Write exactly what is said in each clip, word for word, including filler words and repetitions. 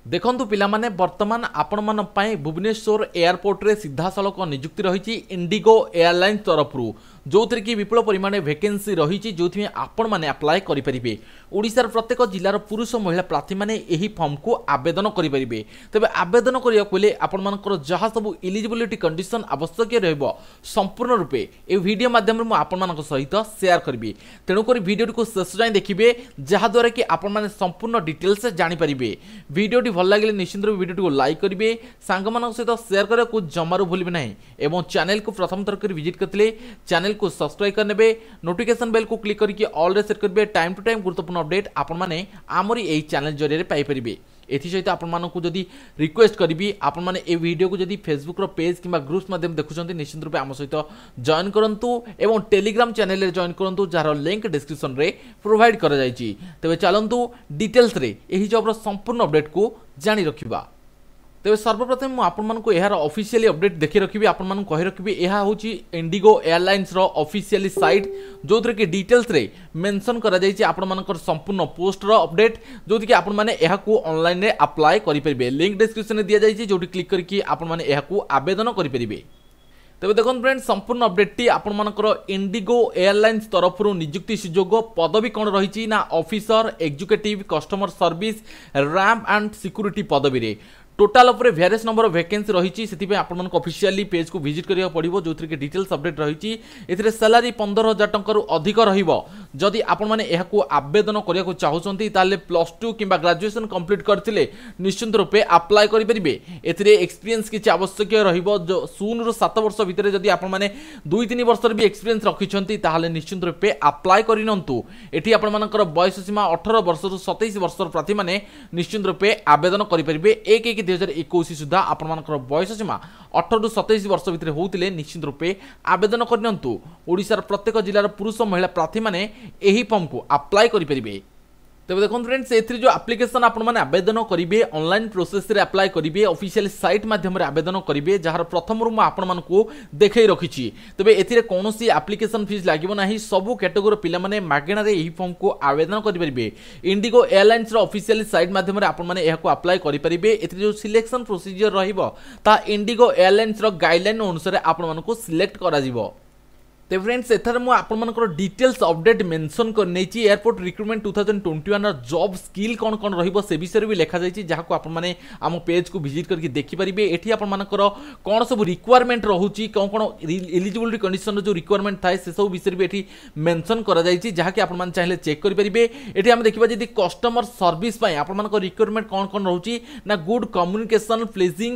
ଦେଖନ୍ତୁ ପିଲାମାନେ, ବର୍ତ୍ତମାନ ଆପଣମାନଙ୍କ ପାଇଁ ଭୁବନେଶ୍ୱର ଏୟାରପୋର୍ଟରେ ସିଧାସଳଖ ନିଯୁକ୍ତି ରହିଛି ଇଣ୍ଡିଗୋ ଏୟାରଲାଇନ୍ସ ତରଫରୁ, ଯେଉଁଥିରେ କି ବିପୁଳ ପରିମାଣରେ ଭେକେନ୍ସି ରହିଛି, ଯେଉଁଥିପାଇଁ ଆପଣମାନେ ଆପ୍ଲାଏ କରିପାରିବେ। ଓଡ଼ିଶାର ପ୍ରତ୍ୟେକ ଜିଲ୍ଲାର ପୁରୁଷ ମହିଳା ପ୍ରାର୍ଥୀମାନେ ଏହି ଫର୍ମକୁ ଆବେଦନ କରିପାରିବେ। ତେବେ ଆବେଦନ କରିବାକୁ ହେଲେ ଆପଣମାନଙ୍କର ଯାହା ସବୁ ଇଲିଜିବିଲିଟି କଣ୍ଡିସନ୍ ଆବଶ୍ୟକୀୟ ରହିବ, ସମ୍ପୂର୍ଣ୍ଣ ରୂପେ ଏହି ଭିଡ଼ିଓ ମାଧ୍ୟମରେ ମୁଁ ଆପଣମାନଙ୍କ ସହିତ ସେୟାର କରିବି। ତେଣୁକରି ଭିଡ଼ିଓଟିକୁ ଶେଷ ଯାଏଁ ଦେଖିବେ, ଯାହାଦ୍ୱାରା କି ଆପଣମାନେ ସମ୍ପୂର୍ଣ୍ଣ ଡିଟେଲ୍ସ ଜାଣିପାରିବେ। ଭିଡ଼ିଓଟି ଭଲ ଲାଗିଲେ ନିଶ୍ଚିତ ରୂପେ ଭିଡ଼ିଓଟିକୁ ଲାଇକ୍ କରିବେ, ସାଙ୍ଗମାନଙ୍କ ସହିତ ସେୟାର କରିବାକୁ ଜମାରୁ ଭୁଲିବେ ନାହିଁ ଏବଂ ଚ୍ୟାନେଲକୁ ପ୍ରଥମ ଥର କରି ଭିଜିଟ୍ କରିଥିଲେ ଚ୍ୟାନେଲକୁ ସବସ୍କ୍ରାଇବ୍ କରିନେବେ, ନୋଟିଫିକେସନ୍ ବେଲ୍କୁ କ୍ଲିକ୍ କରିକି ଅଲ୍ରେ ସେଟ୍ କରିବେ। ଟାଇମ୍ ଟୁ ଟାଇମ୍ ଗୁରୁତ୍ୱପୂର୍ଣ୍ଣ ଅପଡେଟ୍ ଆପଣମାନେ ଆମରି ଏହି ଚ୍ୟାନେଲ ଜରିଆରେ ପାଇପାରିବେ। ଏଥିସହିତ ଆପଣମାନଙ୍କୁ ଯଦି ରିକ୍ୱେଷ୍ଟ କରିବି, ଆପଣମାନେ ଏ ଭିଡ଼ିଓକୁ ଯଦି ଫେସବୁକ୍ର ପେଜ୍ କିମ୍ବା ଗ୍ରୁପ୍ସ ମାଧ୍ୟମରେ ଦେଖୁଛନ୍ତି, ନିଶ୍ଚିତ ରୂପେ ଆମ ସହିତ ଜଏନ୍ କରନ୍ତୁ ଏବଂ ଟେଲିଗ୍ରାମ ଚ୍ୟାନେଲରେ ଜଏନ୍ କରନ୍ତୁ, ଯାହାର ଲିଙ୍କ୍ ଡିସ୍କ୍ରିପ୍ସନରେ ପ୍ରୋଭାଇଡ଼ କରାଯାଇଛି। ତେବେ ଚାଲନ୍ତୁ ଡିଟେଲ୍ସରେ ଏହି ଜବ୍ର ସମ୍ପୂର୍ଣ୍ଣ ଅପଡେଟ୍କୁ ଜାଣି ରଖିବା। ତେବେ ସର୍ବପ୍ରଥମେ ମୁଁ ଆପଣମାନଙ୍କୁ ଏହାର ଅଫିସିଆଲି ଅପଡେଟ୍ ଦେଖି ରଖିବି। ଆପଣମାନଙ୍କୁ କହି ରଖିବି, ଏହା ହେଉଛି ଇଣ୍ଡିଗୋ ଏୟାରଲାଇନ୍ସର ଅଫିସିଆଲି ସାଇଟ୍, ଯେଉଁଥିରେ କି ଡିଟେଲ୍ସରେ ମେନସନ୍ କରାଯାଇଛି ଆପଣମାନଙ୍କର ସମ୍ପୂର୍ଣ୍ଣ ପୋଷ୍ଟର ଅପଡେଟ୍, ଯେଉଁଥିକି ଆପଣମାନେ ଏହାକୁ ଅନଲାଇନରେ ଆପ୍ଲାଏ କରିପାରିବେ। ଲିଙ୍କ୍ ଡିସ୍କ୍ରିପ୍ସନରେ ଦିଆଯାଇଛି, ଯେଉଁଠି କ୍ଲିକ୍ କରିକି ଆପଣମାନେ ଏହାକୁ ଆବେଦନ କରିପାରିବେ। ତେବେ ଦେଖନ୍ତୁ ଫ୍ରେଣ୍ଡ, ସମ୍ପୂର୍ଣ୍ଣ ଅପଡେଟ୍ଟି ଆପଣମାନଙ୍କର ଇଣ୍ଡିଗୋ ଏୟାରଲାଇନ୍ସ ତରଫରୁ ନିଯୁକ୍ତି ସୁଯୋଗ। ପଦବୀ କ'ଣ ରହିଛି ନା officer, executive, customer service, ramp and security ପଦବୀରେ ଟୋଟାଲ ଉପରେ ଭ୍ୟାରିୟସ୍ ନମ୍ବର ଭେକେନ୍ସି ରହିଛି। ସେଥିପାଇଁ ଆପଣମାନଙ୍କୁ ଅଫିସିଆଲି ପେଜ୍କୁ ଭିଜିଟ୍ କରିବାକୁ ପଡ଼ିବ, ଯେଉଁଥିରେ କି ଡିଟେଲ୍ସ ଅପଡେଟ୍ ରହିଛି। ଏଥିରେ ସାଲାରୀ ପନ୍ଦର ହଜାର ଟଙ୍କାରୁ ଅଧିକ ରହିବ। ଯଦି ଆପଣମାନେ ଏହାକୁ ଆବେଦନ କରିବାକୁ ଚାହୁଁଛନ୍ତି, ତାହେଲେ ପ୍ଲସ୍ ଟୁ କିମ୍ବା ଗ୍ରାଜୁଏସନ୍ କମ୍ପ୍ଲିଟ୍ କରିଥିଲେ ନିଶ୍ଚିନ୍ତ ରୂପେ ଆପ୍ଲାଏ କରିପାରିବେ। ଏଥିରେ ଏକ୍ସପିରିଏନ୍ସ କିଛି ଆବଶ୍ୟକୀୟ ରହିବ, ଶୂନରୁ ସାତ ବର୍ଷ ଭିତରେ ଯଦି ଆପଣମାନେ ଦୁଇ ତିନି ବର୍ଷର ବି ଏକ୍ସପିରିଏନ୍ସ ରଖିଛନ୍ତି, ତାହେଲେ ନିଶ୍ଚିନ୍ତ ରୂପେ ଆପ୍ଲାଏ କରିନିଅନ୍ତୁ। ଏଠି ଆପଣମାନଙ୍କର ବୟସ ସୀମା ଅଠର ବର୍ଷରୁ ସତେଇଶ ବର୍ଷର ପ୍ରାର୍ଥୀମାନେ ନିଶ୍ଚିନ୍ତ ରୂପେ ଆବେଦନ କରିପାରିବେ। ଏକ ଏକ ଦୁଇ ହଜାର ଏକୋଇଶ ସୁଦ୍ଧା ଆପଣମାନଙ୍କର ବୟସ ସୀମା ଅଠରରୁ ସତେଇଶ ବର୍ଷ ଭିତରେ ହେଉଥିଲେ ନିଶ୍ଚିନ୍ତ ରୂପେ ଆବେଦନ କରିନିଅନ୍ତୁ। ଓଡ଼ିଶାର ପ୍ରତ୍ୟେକ ଜିଲ୍ଲାର ପୁରୁଷ ମହିଳା ପ୍ରାର୍ଥୀମାନେ ଏହି ଫର୍ମକୁ ଆପ୍ଲାଏ କରିପାରିବେ। ତେବେ ଦେଖନ୍ତୁ ଫ୍ରେଣ୍ଡସ୍, ଏଥିରେ ଯେଉଁ ଆପ୍ଲିକେସନ୍ ଆପଣମାନେ ଆବେଦନ କରିବେ, ଅନଲାଇନ୍ ପ୍ରୋସେସ୍ରେ ଆପ୍ଲାଏ କରିବେ, ଅଫିସିଆଲି ସାଇଟ୍ ମାଧ୍ୟମରେ ଆବେଦନ କରିବେ, ଯାହାର ପ୍ରଥମରୁ ମୁଁ ଆପଣମାନଙ୍କୁ ଦେଖାଇ ରଖିଛି। ତେବେ ଏଥିରେ କୌଣସି ଆପ୍ଲିକେସନ୍ ଫିସ୍ ଲାଗିବ ନାହିଁ। ସବୁ କ୍ୟାଟେଗୋରୀ ପିଲାମାନେ ମାଗଣାରେ ଏହି ଫର୍ମକୁ ଆବେଦନ କରିପାରିବେ। ଇଣ୍ଡିଗୋ ଏୟାରଲାଇନ୍ସର ଅଫିସିଆଲି ସାଇଟ୍ ମାଧ୍ୟମରେ ଆପଣମାନେ ଏହାକୁ ଆପ୍ଲାଏ କରିପାରିବେ। ଏଥିରେ ଯେଉଁ ସିଲେକ୍ସନ୍ ପ୍ରୋସିଜିଅର ରହିବ, ତାହା ଇଣ୍ଡିଗୋ ଏୟାରଲାଇନ୍ସର ଗାଇଡ଼ଲାଇନ୍ ଅନୁସାରେ ଆପଣମାନଙ୍କୁ ସିଲେକ୍ଟ କରାଯିବ। ତେବେ ଫ୍ରେଣ୍ଡସ୍, ଏଠାରେ ମୁଁ ଆପଣମାନଙ୍କର ଡିଟେଲ୍ସ ଅପଡେଟ୍ ମେନସନ୍ କରିନେଇଛି। Airport recruitment two thousand twenty ୱାନ୍ର job skill କ'ଣ କ'ଣ ରହିବ, ସେ ବିଷୟରେ ବି ଲେଖାଯାଇଛି, ଯାହାକୁ ଆପଣମାନେ ଆମ ପେଜ୍କୁ ଭିଜିଟ୍ କରିକି ଦେଖିପାରିବେ। ଏଠି ଆପଣମାନଙ୍କର କ'ଣ ସବୁ ରିକ୍ୱାରମେଣ୍ଟ ରହୁଛି, କ'ଣ କ'ଣ ଏଲିଜିବିଲିଟି କଣ୍ଡିସନର ଯେଉଁ ରିକ୍ୱାରମେଣ୍ଟ ଥାଏ, ସେସବୁ ବିଷୟରେ ବି ଏଠି ମେନସନ୍ କରାଯାଇଛି, ଯାହାକି ଆପଣମାନେ ଚାହିଁଲେ ଚେକ୍ କରିପାରିବେ। ଏଠି ଆମେ ଦେଖିବା, ଯଦି କଷ୍ଟମର ସର୍ଭିସ୍ ପାଇଁ ଆପଣମାନଙ୍କ ରିକ୍ୱାରମେଣ୍ଟ କ'ଣ କ'ଣ ରହୁଛି ନା ଗୁଡ୍ କମ୍ୟୁନିକେସନ୍, ପ୍ଲେଜିଂ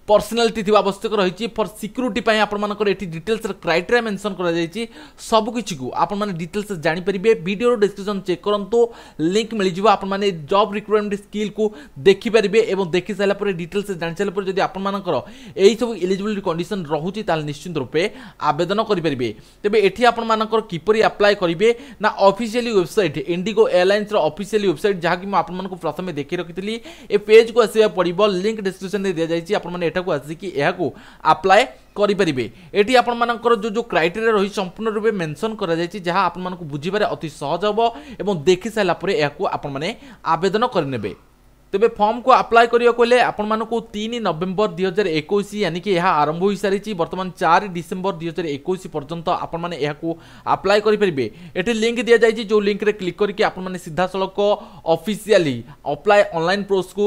ପର୍ସନାଲିଟି ଥିବା ଆବଶ୍ୟକ ରହିଛି। ଫର୍ ସିକ୍ୟୁରିଟି ପାଇଁ ଆପଣମାନଙ୍କର ଏଠି ଡିଟେଲ୍ସର କ୍ରାଇଟେରିଆ ମେନସନ୍ କରାଯାଇଛି। ସବୁକିଛିକୁ ଆପଣମାନେ ଡିଟେଲ୍ସ ଜାଣିପାରିବେ। ଭିଡ଼ିଓର ଡିସ୍କ୍ରିପ୍ସନ୍ ଚେକ୍ କରନ୍ତୁ, ଲିଙ୍କ୍ ମିଳିଯିବ। ଆପଣମାନେ ଜବ୍ ରିକ୍ୱାରମେଣ୍ଟ ସ୍କିଲ୍କୁ ଦେଖିପାରିବେ ଏବଂ ଦେଖି ସାରିଲା ପରେ, ଡିଟେଲ୍ସ ଜାଣି ସାରିଲା ପରେ ଯଦି ଆପଣମାନଙ୍କର ଏହିସବୁ ଏଲିଜିବିଲିଟି କଣ୍ଡିସନ୍ ରହୁଛି, ତାହେଲେ ନିଶ୍ଚିନ୍ତ ରୂପେ ଆବେଦନ କରିପାରିବେ। ତେବେ ଏଠି ଆପଣମାନଙ୍କର କିପରି ଆପ୍ଲାଏ କରିବେ ନା ଅଫିସିଆଲି ୱେବସାଇଟ୍, ଇଣ୍ଡିଗୋ ଏୟାରଲାଇନ୍ସର ଅଫିସିଆଲି ୱେବସାଇଟ୍, ଯାହାକି ମୁଁ ଆପଣମାନଙ୍କୁ ପ୍ରଥମେ ଦେଖି ରଖିଥିଲି, ଏ ପେଜ୍କୁ ଆସିବାକୁ ପଡ଼ିବ। ଲିଙ୍କ୍ ଡିସ୍କ୍ରିପ୍ସନରେ ଦିଆଯାଇଛି। ଆପଣମାନେ ଏଠାକୁ ଆସିକି ଏହାକୁ ଆପ୍ଲାଏ କରିପାରିବେ। ଏଠି ଆପଣମାନଙ୍କର ଯେଉଁ ଯେଉଁ କ୍ରାଇଟେରିଆ ରହିଛି, ସମ୍ପୂର୍ଣ୍ଣ ରୂପେ ମେନସନ୍ କରାଯାଇଛି, ଯାହା ଆପଣମାନଙ୍କୁ ବୁଝିବାରେ ଅତି ସହଜ ହେବ ଏବଂ ଦେଖି ସାରିଲା ପରେ ଏହାକୁ ଆପଣମାନେ ଆବେଦନ କରିନେବେ। ତେବେ ଫର୍ମକୁ ଆପ୍ଲାଏ କରିବାକୁ ହେଲେ ଆପଣମାନଙ୍କୁ ତିନି ନଭେମ୍ବର ଦୁଇ ହଜାର ଏକୋଇଶ, ୟାନି କି ଏହା ଆରମ୍ଭ ହୋଇସାରିଛି ବର୍ତ୍ତମାନ, ଚାରି ଡିସେମ୍ବର ଦୁଇ ହଜାର ଏକୋଇଶ ପର୍ଯ୍ୟନ୍ତ ଆପଣମାନେ ଏହାକୁ ଆପ୍ଲାଏ କରିପାରିବେ। ଏଠି ଲିଙ୍କ୍ ଦିଆଯାଇଛି, ଯେଉଁ ଲିଙ୍କରେ କ୍ଲିକ୍ କରିକି ଆପଣମାନେ ସିଧାସଳଖ ଅଫିସିଆଲି ଆପ୍ଲାଏ ଅନଲାଇନ୍ ପ୍ରୋସେସକୁ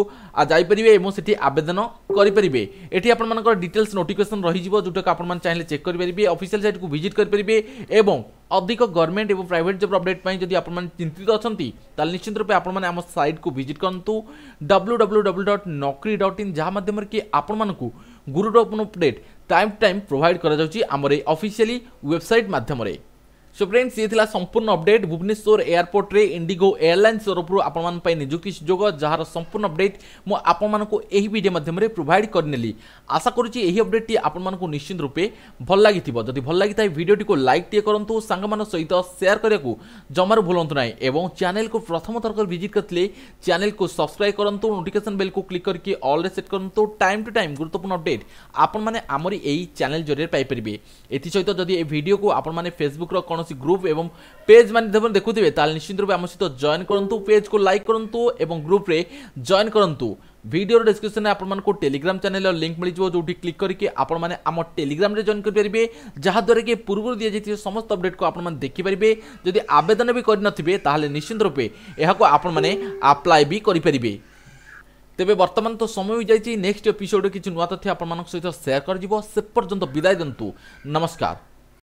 ଯାଇପାରିବେ ଏବଂ ସେଠି ଆବେଦନ କରିପାରିବେ। ଏଠି ଆପଣମାନଙ୍କର ଡିଟେଲ୍ସ ନୋଟିଫିକେସନ୍ ରହିଯିବ, ଯେଉଁଟାକୁ ଆପଣମାନେ ଚାହିଁଲେ ଚେକ୍ କରିପାରିବେ, ଅଫିସିଆଲ ସାଇଟ୍କୁ ଭିଜିଟ୍ କରିପାରିବେ। ଏବଂ ଅଧିକ ଗଭର୍ଣ୍ଣମେଣ୍ଟ ଏବଂ ପ୍ରାଇଭେଟ୍ ଜବ୍ ଅପଡେଟ୍ ପାଇଁ ଯଦି ଆପଣମାନେ ଚିନ୍ତିତ ଅଛନ୍ତି, ତାହେଲେ ନିଶ୍ଚିତ ରୂପେ ଆପଣମାନେ ଆମ ସାଇଟ୍କୁ ଭିଜିଟ୍ କରନ୍ତୁ, W W W dot Naukri dot in, ଯାହା ମାଧ୍ୟମରେ କି ଆପଣମାନଙ୍କୁ ଗୁରୁତ୍ୱପୂର୍ଣ୍ଣ update time to time provide କରାଯାଉଛି ଆମର ଏଇ ଅଫିସିଆଲି ୱେବସାଇଟ୍ ମାଧ୍ୟମରେ। ସୋ ଫ୍ରେଣ୍ଡସ୍, ଇଏ ଥିଲା ସମ୍ପୂର୍ଣ୍ଣ ଅପଡେଟ୍ ଭୁବନେଶ୍ୱର ଏୟାରପୋର୍ଟରେ ଇଣ୍ଡିଗୋ ଏୟାରଲାଇନ୍ସ ତରଫରୁ ଆପଣମାନଙ୍କ ପାଇଁ ନିଯୁକ୍ତି ସୁଯୋଗ, ଯାହାର ସମ୍ପୂର୍ଣ୍ଣ ଅପଡେଟ୍ ମୁଁ ଆପଣମାନଙ୍କୁ ଏହି ଭିଡ଼ିଓ ମାଧ୍ୟମରେ ପ୍ରୋଭାଇଡ଼ କରିନେଲି। ଆଶା କରୁଛି ଏହି ଅପଡେଟ୍ଟି ଆପଣମାନଙ୍କୁ ନିଶ୍ଚିତ ରୂପେ ଭଲ ଲାଗିଥିବ। ଯଦି ଭଲ ଲାଗିଥାଏ, ଭିଡ଼ିଓଟିକୁ ଲାଇକ୍ ଟିଏ କରନ୍ତୁ, ସାଙ୍ଗମାନଙ୍କ ସହିତ ସେୟାର କରିବାକୁ ଜମାରୁ ଭୁଲନ୍ତୁ ନାହିଁ ଏବଂ ଚ୍ୟାନେଲକୁ ପ୍ରଥମ ଥର କରି ଭିଜିଟ୍ କରିଥିଲେ ଚ୍ୟାନେଲକୁ ସବସ୍କ୍ରାଇବ୍ କରନ୍ତୁ, ନୋଟିଫିକେସନ୍ ବେଲ୍କୁ କ୍ଲିକ୍ କରିକି ଅଲ୍ରେ ସେଟ୍ କରନ୍ତୁ। ଟାଇମ୍ ଟୁ ଟାଇମ୍ ଗୁରୁତ୍ୱପୂର୍ଣ୍ଣ ଅପଡେଟ୍ ଆପଣମାନେ ଆମରି ଏହି ଚ୍ୟାନେଲ ଜରିଆରେ ପାଇପାରିବେ। ଏଥିସହିତ ଯଦି ଏ ଭିଡ଼ିଓକୁ ଆପଣମାନେ ଫେସବୁକ୍ର କୌଣସି ଗ୍ରୁପ୍ ଏବଂ ପେଜ୍ ମାଧ୍ୟମରେ ଦେଖୁଥିବେ, ତାହେଲେ ନିଶ୍ଚିତ ରୂପେ ଆମ ସହିତ ଜଏନ୍ କରନ୍ତୁ, ପେଜ୍କୁ ଲାଇକ୍ କରନ୍ତୁ ଏବଂ ଗ୍ରୁପ୍ରେ ଜଏନ୍ କରନ୍ତୁ। ଭିଡ଼ିଓର ଡିସ୍କ୍ରିପ୍ସନରେ ଆପଣମାନଙ୍କୁ ଟେଲିଗ୍ରାମ ଚ୍ୟାନେଲର ଲିଙ୍କ୍ ମିଳିଯିବ, ଯେଉଁଠି କ୍ଲିକ୍ କରିକି ଆପଣମାନେ ଆମ ଟେଲିଗ୍ରାମରେ ଜଏନ୍ କରିପାରିବେ, ଯାହାଦ୍ୱାରା କି ପୂର୍ବରୁ ଦିଆଯାଇଥିବା ସମସ୍ତ ଅପଡେଟ୍କୁ ଆପଣମାନେ ଦେଖିପାରିବେ। ଯଦି ଆବେଦନ ବି କରିନଥିବେ, ତାହେଲେ ନିଶ୍ଚିନ୍ତ ରୂପେ ଏହାକୁ ଆପଣମାନେ ଆପ୍ଲାଏ ବି କରିପାରିବେ। ତେବେ ବର୍ତ୍ତମାନ ତ ସମୟ ହୋଇଯାଇଛି, ନେକ୍ସଟ ଏପିସୋଡ଼ରେ କିଛି ନୂଆ ତଥ୍ୟ ଆପଣମାନଙ୍କ ସହିତ ସେୟାର କରାଯିବ। ସେ ପର୍ଯ୍ୟନ୍ତ ବିଦାୟ ଦିଅନ୍ତୁ, ନମସ୍କାର।